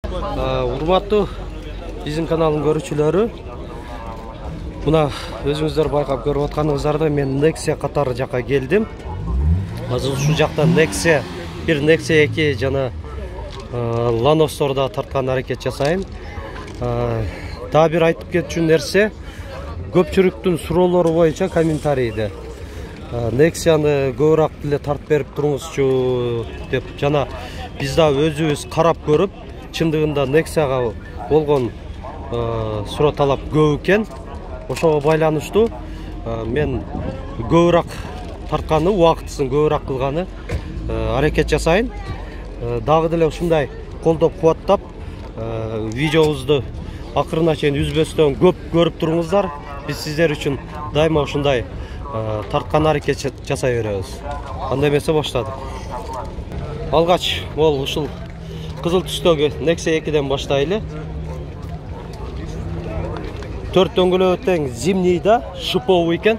Урматтуу биздин каналдын көрүүчүлөрү, мына өзүңүздөр байкап көрүп атканыңыздардай мен Nexia катары жакка келдим. Азыр ушул жакта Nexia 1, Nexia 2 жана Lanos'торда тарткан аракет жасайм. Дагы бир айтып кетчү нерсе, көпчүлүктүн суроолору боюнча комментарийде Nexia'ны көбүрөөк деле тартып берип туруңузчу деп, жана биз да өзүбүз карап көрүп, чындыгында Nexia'га болгон суроо талап көп экен. Ошого байланыштуу мен көбүрөөк тартканы, убактысын көбүрөөк кылганы аракет жасайын. Дагы деле ушундай колдоп кубаттап видеобузду акырына чейин үзбөстөн көп көрүп туруңуздар. Биз сиздер үчүн дайыма ушундай тарткан аракет жасай беребиз. Андай эмесе баштадык. Алгач бул ушул кызыл түстөгү Nexia 2ден баштайлы. 4 дөңгөлөк тең зимний да, шиповый экен.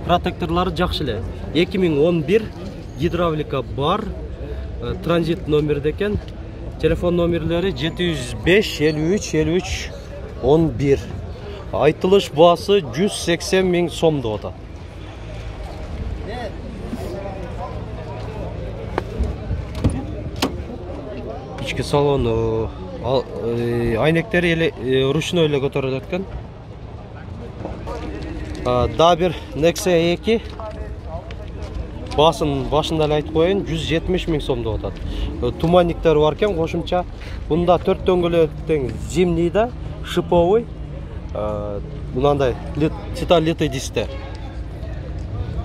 Протекторлары жакшы эле. 2011 гидравлика бар. Транзит номерде экен. Телефон номерлери 705 53 53 11. Айтылыш баасы 180 000 сом деп атат. Ички салону, айнектери ручной эле көтөрүлөт экен. Дагы бир Nexia 2 баасын башында эле айтып коеюн, 170 000 сом деп атат. Туманниктер бар экен кошумча. Бунда 4 дөңгөлөк тең зимний да, шиповый. Мынандай титан литый дисктер.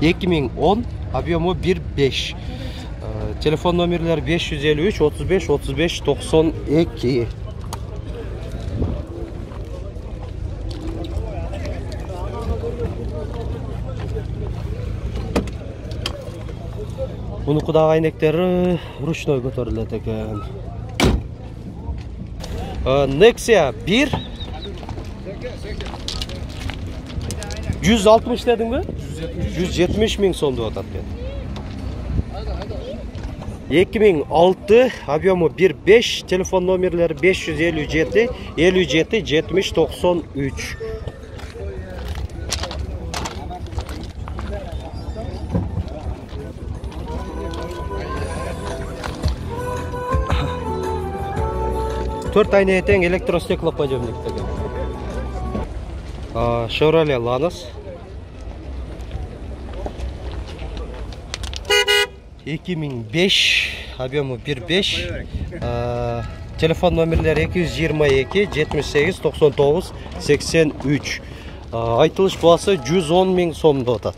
2010, объему 1.5. Телефон номерлери 553 35 35 92. Мунуку дагы айнектери ручной көтөрүлөт экен. Nexia 1 160 дедиңби? 170 000 сом деп атат экен. 2006, объему 1.5, телефон номерлери 557 57 70 93. Төрт айна тең электростеклоподъемник деген. Chevrolet Lanos 2005, объему 1.5, телефон номерлери 222 78 99 83. Айтылыш баасы 110 000 сом деп атат.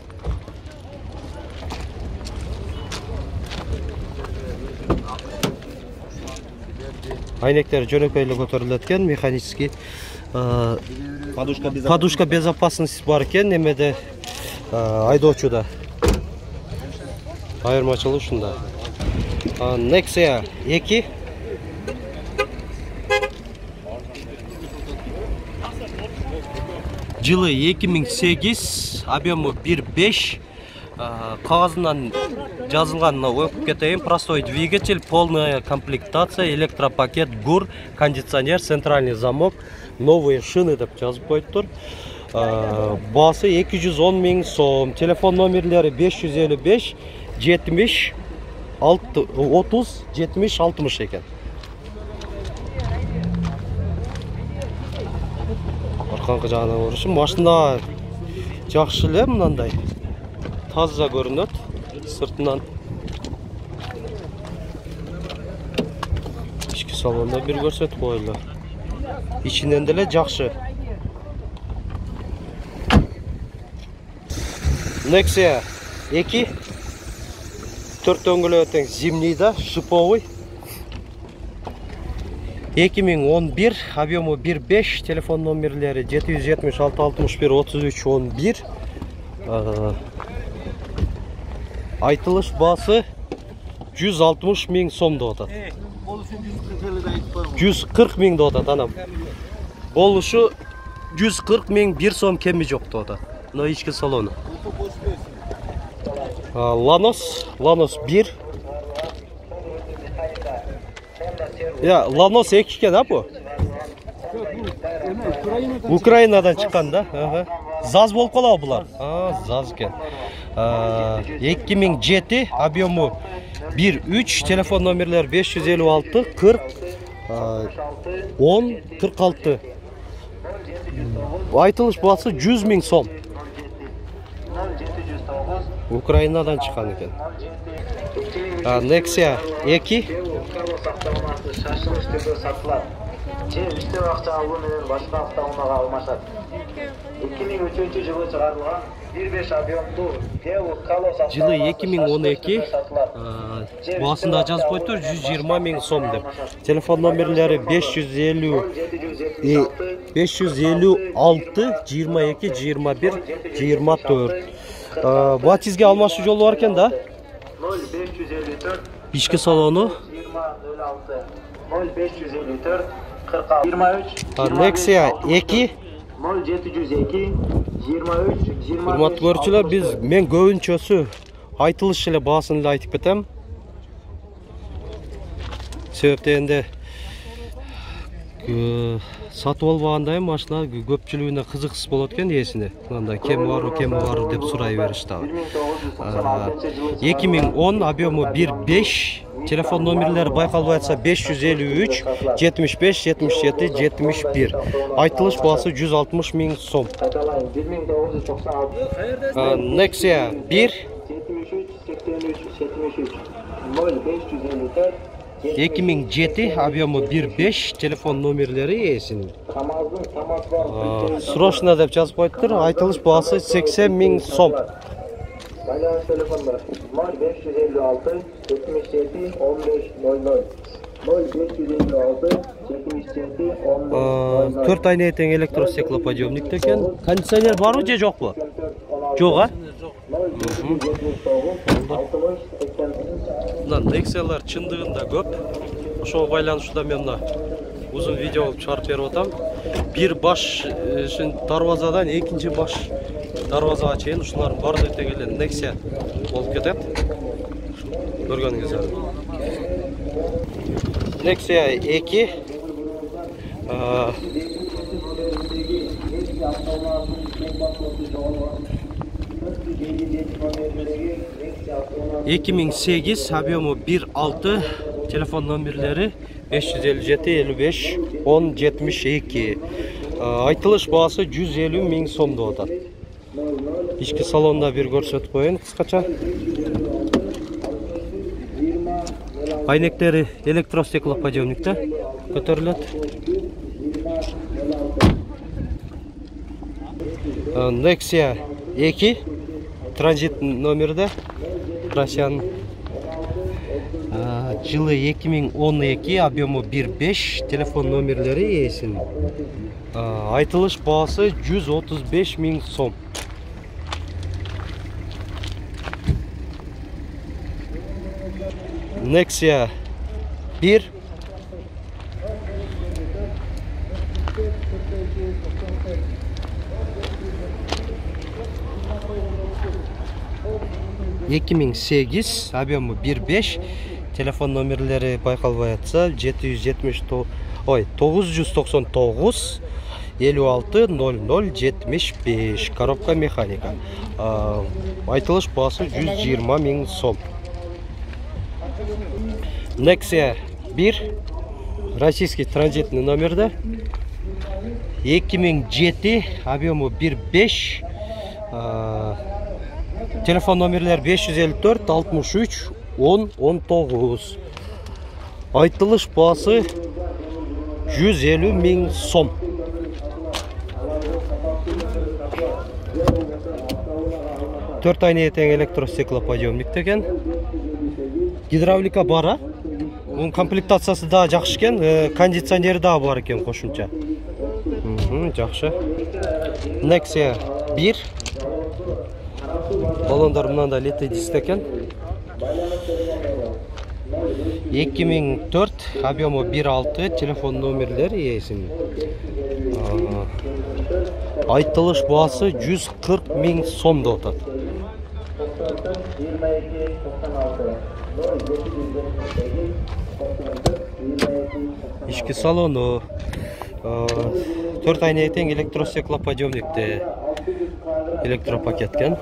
Айнектер жөнөкөй эле көтөрүлөт экен, механический. Подушка безопасности бар экен, немеде айдоочуда. Айырмачылык ушунда. Nexia 2 жылы 2008, объему 1.5. Кагазынан жазылган окуп кетейин. Простой двигатель, полная комплектация, электропакет, ГУР, кондиционер, центральный замок, новые шины деп жазып коюптур. Баасы 210 000 сом. Телефон номерлери 555 70 30 70 60 экен. Арканкы жагынан көрүшүм, машина жакшы эле, мындай таза көрүнөт сыртынан. Ички салонда бир көрсөтүп коелу. Ичинен деле жакшы. Nexia 2 4 дөңгөлөк тең зимний да, шиповый. 2011, объему 1.5, телефон номерлери 776 61 33 11. Айтылыш баасы 160 000 сом деп атат. 140 000 деп атат, анам. Болушу 140 000, 1 сом кеми жок деп атат. Но ички салону. Lanos 1 Ланос 2 экен, а бу? Украинадан чыккан да. ЗАЗ болуп калабы булар? ЗАЗ экен. 2007, объему 1.3, телефон номерлери 556 40 10 46. Айтылыш баасы 100 000 сом. Украинадан чыккан экен. Nexia 2. Башка автоунаага алмашат. 2003-жылы чыгарылган 1.5 объемдуу жылы 2012 баасында жазып коюптур 120 000 сом деп. Телефон номерлери 556 22 21 24. Батизге алмашуу жолу бар экен да. 0554 ички салону 0554 46 23 Nexia 2 0702 23 20. Урматтуу көрүүчүлөр, мен көбүнчөсү айтылыш эле баасын эле айтып кетем. Себеп дегенде сатып албагандай машина көпчүлүгүнө кызыксыз болот экен ээсине. Мындай кеми бар деп сурай беришти. 2010 объему 1.5, телефон номерлери байкалбай атса 553 75 77 71. Айтылыш баасы 160 000 сом. Nexia 1 2007, объему 1.5, телефон номерлери ээсинин. Срочно деп жазып коюптур. Айтылыш баасы 80 000 сом. Байланыш телефондар 0556 77 15 00 0556 77 15 00. 4 айына тең электростеклоподъемник экен. Кондиционер барбы же жокпу? Жок, а? Мына Nexia'лар чындыгында көп. Ошого байланыштуу мен мына узун видео чыгарып берип атам. Бир баш дарбазадан экинчи баш дарбазага чейин ушулардын баардыгы тең эле Nexia болуп кетет. Көргөнүңүздөр. Nexia 2 2008, объему 1.6, телефон номерлери 557 55 10 72. Айтылыш баасы 150 000 сом деп атат. Ички салонда бир көрсөтүп коеюн кыскача. Айнектери электростеклоподъемникте көтөрүлөт. Nexia 2 транзит номерде. Россиян. Жылы 2012, объему 1.5, телефон номерлери ээсинин. Айтылыш баасы 135 000 сом. Nexia 1 2008, объему 1.5, телефон номерлери байкалбай атса 999 56 00 75. Коробка механика. Айтылыш баасы 120 000 сом. Nexia 1 российский транзитный номерде. 2007, объему 1.5, телефон номерлер 554 63 10 19. Айтылыш баасы 150 000 сом. Төрт айына тең электростеклоподъемник деген. Гидравлика бара. Бунун комплектациясы да жакшы экен, кондиционери да бар экен кошумча. Жакшы. Nexia 1 баллондар мынандай летый диск экен. 2004, объему 1.6, телефон номерлери ээсинин. Айтылыш баасы 140 000 сом деп атат. ички салону 4 айнеге тең электростеклоподъемникте электропакет экен.